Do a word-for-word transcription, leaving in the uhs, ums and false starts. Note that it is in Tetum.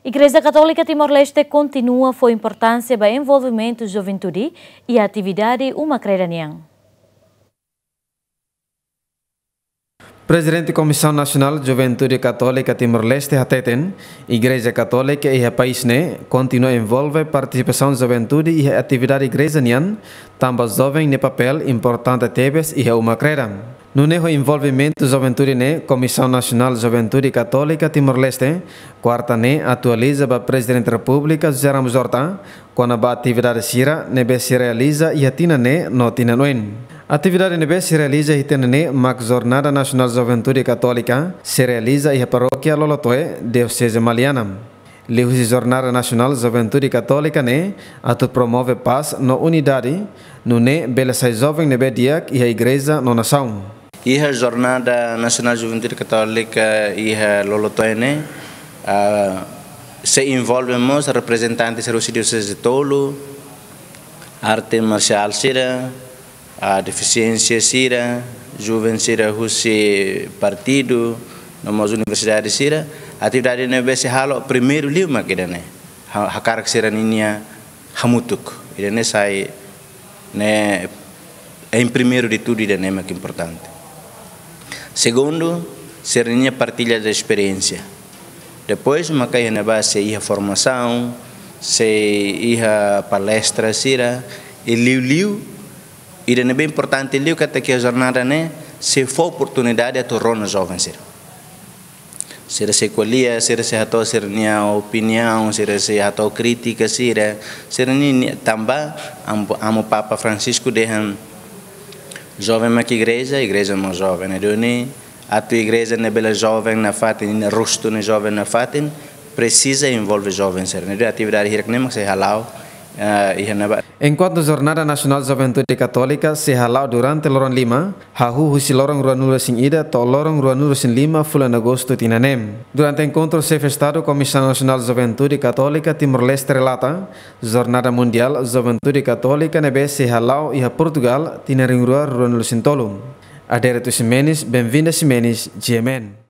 Igreja Katólika Timor-Leste kontinua fó importánsia ba envolvimentu juventude iha atividade uma-kreda nian. Prezidente Komisaun Nasionál Juventude Katólika Timor-Leste hateten, Igreja Katólika iha país ne'e kontinua envolve partisipasaun juventude iha atividade igreja nian, tanba joven nia papél importante tebes iha uma-kreda. Nune'e ho envolvimentu juventude ne'e, Komisaun Nasionál Juventude Katólika Timor-Leste, kuarta ne'e atualiza ba Prezidente Repúblika José Ramos Horta, kona-ba atividade sira ne'ebé sei realiza iha tinan ne'e no tinan oin. Atividade ne'ebé sei realiza iha tinan ne'e mak Jornada Nasionál Juventude Katólika, sei realiza iha Parókia Lolotoe, Dioseze Maliana. Liuhusi Jornada Nasionál Juventude Katólika ne'e atu promove pás no unidade, nune'e bele sai joven ne'ebé di'ak iha igreja no nasaun. Iha Jornada Nasionál Juventude Katólika iha Lolotoe ne'e, ah, sei envolve mós reprezentante sira husi dioseze tolu, arte marsiál sira, ah, defisiénsia sira, joven sira husi partidu, no mós universidade sira. Atividade ne'ebé sei halo primeiru liu mak ida-ne'e. Ha-, hakarak sira-ninia hamutuk. Ida-ne'e sai ne'e, em primeiro de tudo, ida-ne'e mak importante. Segundu, sira-ninia partilla de esperiénsia. Depois, maka iha ne'ebá sei iha formasaun, sei iha palestra sira, i liuliu, ida ne'ebé importante liu katak iha jornada ne'e sei fó oportunidade atu rona joven sira. Sira sei ko'alia, sira sei hato'o sira-nia opiniaun, sira sei hato'o krítika sira, sira-nia, nia tanba amu, amu Papa Francisco dehan joven mak igreja, igreja mós joven. Ne'e duni atu igreja ne'e bele joven nafatin, nia rostu ne'e joven nafatin, presiza envolve joven sira. Ne'e duni atividade hirak ne'e mak sei hala'o, eh, iha ne'ebá. Enkuantu Jornada Nasionál Juventude Katólika sei hala'o durante loron lima, hahú husi loron ruanulu-resin-ida to'o loron ruanulu-resin-lima fulan Agostu tinan ne'e. Durante enkontru Xefe Estadu Komisaun Nasionál Juventude Katólika Timor-Leste relata, Jornada Mundiál Juventude Katólika ne'ebé sei hala'o iha Portugal tinan rihun rua ruanulu-resin-tolu. Adérito Ximenes, Benvinda Ximenes, G M N.